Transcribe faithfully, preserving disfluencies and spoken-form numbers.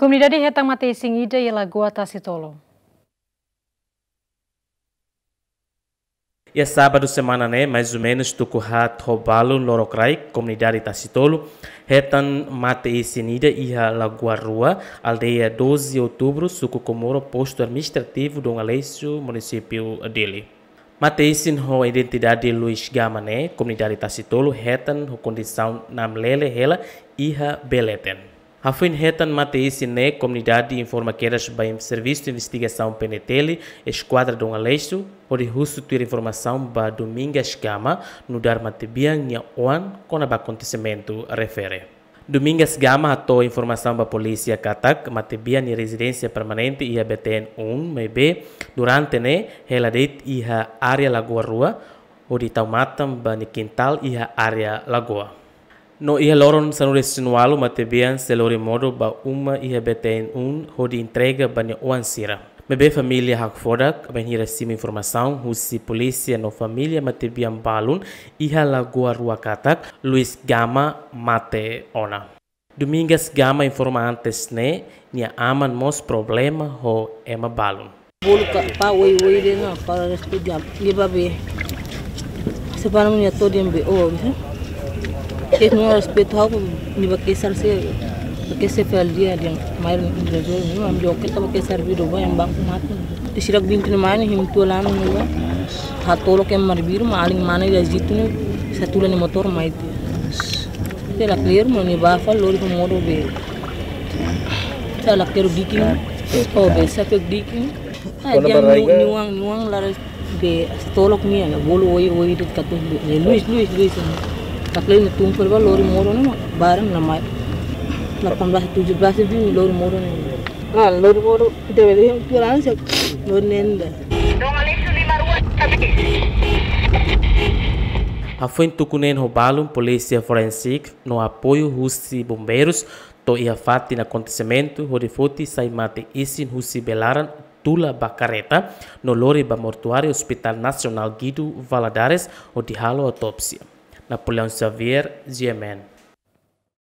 Komunidade hetan mate-isin ida iha Lagoa Tasitolu. Iha sábadu semana ne'e, mais ou menus tuku haat ho balun lorokraik, komunidade Tasitolu hetan mate-isin ida iha Lagoa Rua, aldeia doze Outubru, suku Comoro, postu administrativu Dom Aleixo, munisípiu Dili. Mate-isin ho identidade Luis Gama ne'e, komunidade Tasitolu hetan ho kondisaun namlele hela iha bee leten. Hafoin hetan mate-isin ne'e, komunidade informa kedas ba in-, servisu investigasaun P N T L, Eskuadra Dom Aleixo, hodi husu tuir informasaun ba Domingas Gama, nu'udar matebian nia oan, kona-ba akontesimentu refere. Domingas Gama hato'o informasaun ba polísia katak matebian nia rezidénsia permanente iha B T N um, maibé durante ne'e hela de'it iha área Lagoa Rua, hodi tau matan ba nia kintál iha área lagoa. No iha loron sanulu-resin-ualu matebian sei lori modo ba uma iha B T N um hodi entrega ba nia oan sira. Maibé família hakfodak bainhira simu informasaun husi polísia no família matebian balun iha Lagoa Rua katak Luis Gama mate ona. Domingas Gama informa antes ne'e, nia aman mós problema ho ema balun. Bolu ka pa oi oi de na para respeito dia. Dia ba be. Se para minha todo dia be o. Es no respeito hau ni ba kesar se, ba kesar fel dia dia. Mai rezol no am jo ke ta ba kesar bidu ba em banku matu. Di sirak bintu ne mani him tu lanu ne ba. Hatolo ke mar biru ma aling mana ya jitu ne. Satu lani motor mai ti. Te la clear mo ni ba fa lori ko modo be. Sa la kero dikin. O be sa pe dikin. Ah, kona dia barai nu-, ka? Nuang, nuang la be tolok ni ana bolu oi, oi, de katu be. Luis, Luis, Luis. La clear ni tum per ba lori modo na baran na mai. La pamblas tujuh belas bin lori modo na. Ah, lori modo debe de tu lan se lori nenda. Hafoin tuku neen ho balun, polísia forensik no apoiu husi bombeirus to'o iha fatin akontesimentu hodi foti sai mate-isin husi bee laran tula ba kareta no lori ba mortuáriu Hospital Nasionál Guido Valadares hodi halo autópsia. Napoleão Xavier, G M N.